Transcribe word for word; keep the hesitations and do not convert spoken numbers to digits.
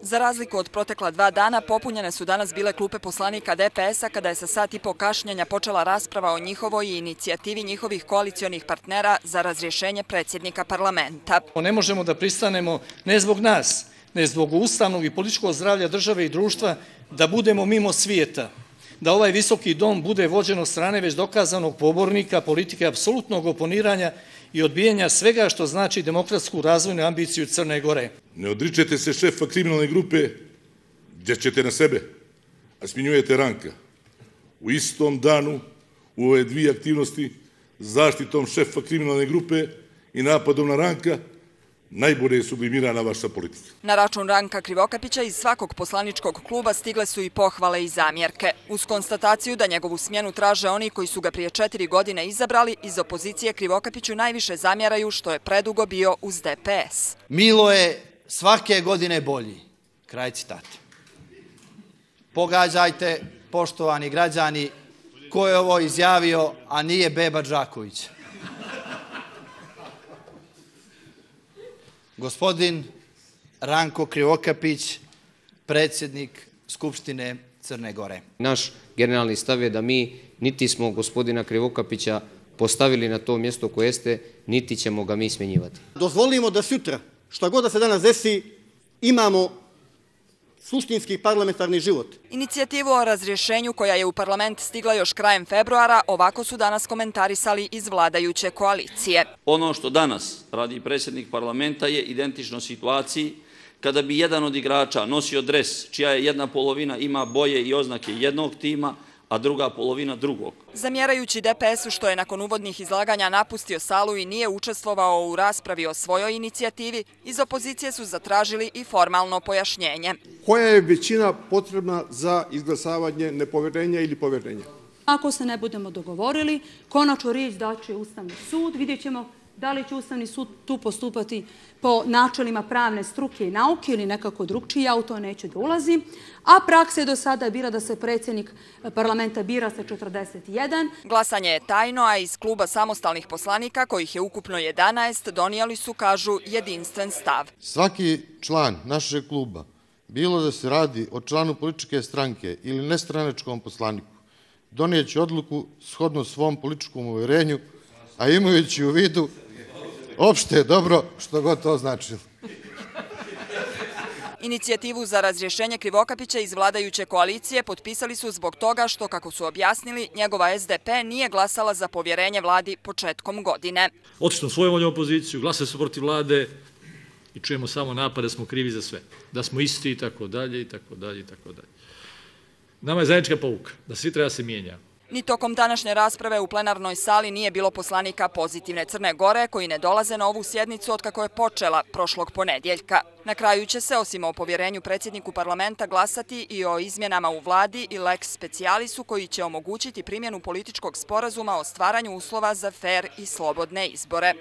Za razliku od protekla dva dana, popunjene su danas bile klupe poslanika D P S-a kada je sa sat i po kašnjenja počela rasprava o njihovoj i inicijativi njihovih koalicionih partnera za razrješenje predsjednika parlamenta. Ne možemo da pristanemo ne zbog nas, ne zbog ustavnog i političkog zdravlja države i društva da budemo mimo svijeta, da ovaj visoki dom bude vođen od strane već dokazanog pobornika politike apsolutnog oponiranja i odbijanja svega što znači demokratsku razvojnu ambiciju Crne Gore. Ne odričete se šefa kriminalne grupe gdje ćete na sebe, a smjenjujete Ranka. U istom danu u ove dvije aktivnosti zaštitom šefa kriminalne grupe i napadom na Ranka najbolje je sublimirana vaša politika. Na račun Ranka Krivokapića iz svakog poslaničkog kluba stigle su i pohvale i zamjerke. Uz konstataciju da njegovu smjenu traže oni koji su ga prije četiri godine izabrali, iz opozicije Krivokapiću najviše zamjeraju što je predugo bio uz D P S. Milo je svake godine bolji. Kraj citata. Pogađajte, poštovani građani, ko je ovo izjavio, a nije Beba Đaković. Gospodin Ranko Krivokapić, predsjednik Skupštine Crne Gore. Naš generalni stav je da mi niti smo gospodina Krivokapića postavili na to mjesto koje jeste, niti ćemo ga mi smjenjivati. Dozvolimo da sutra, šta god da se danas desi, imamo suštinski parlamentarni život. Inicijativu o razrješenju koja je u parlament stigla još krajem februara, ovako su danas komentarisali iz vladajuće koalicije. Ono što danas radi predsjednik parlamenta je identično situaciji kada bi jedan od igrača nosio dres čija je jedna polovina ima boje i oznake jednog tima, a druga polovina drugog. Zamjerajući D P S-u što je nakon uvodnih izlaganja napustio salu i nije učestvovao u raspravi o svojoj inicijativi, iz opozicije su zatražili i formalno pojašnjenje. Koja je većina potrebna za izglasavanje nepovjerenja ili povjerenja? Ako se ne budemo dogovorili, konačnu riječ daće Ustavni sud, vidjet ćemo da li će Ustavni sud tu postupati po načelima pravne struke i nauke ili nekako drugčije, ja u to neću da ulazim. A praksa je do sada bila da se predsjednik parlamenta bira sa četrdeset jedan. Glasanje je tajno, a iz kluba samostalnih poslanika, kojih je ukupno jedanaest, donijeli su, kažu, jedinstven stav. Svaki član našeg kluba, bilo da se radi o članu političke stranke ili nestranačkom poslaniku, donijeće odluku shodno svom političkom uvjerenju, a imajući u vidu opšte dobro, što god to značilo. Inicijativu za razrješenje Krivokapića iz vladajuće koalicije potpisali su zbog toga što, kako su objasnili, njegova S D P nije glasala za povjerenje vladi početkom godine. Otišli svojom voljom opoziciju, glasali su protiv vlade i čujemo samo napad da smo krivi za sve, da smo isti i tako dalje i tako dalje i tako dalje. Nama je zajednička pouka da svi treba se mijenjati. Ni tokom današnje rasprave u plenarnoj sali nije bilo poslanika Pozitivne Crne Gore koji ne dolaze na ovu sjednicu otkako je počela prošlog ponedjeljka. Na kraju će se, osim o povjerenju predsjedniku parlamenta, glasati i o izmjenama u vladi i lex specialisu koji će omogućiti primjenu političkog sporazuma o stvaranju uslova za fer i slobodne izbore.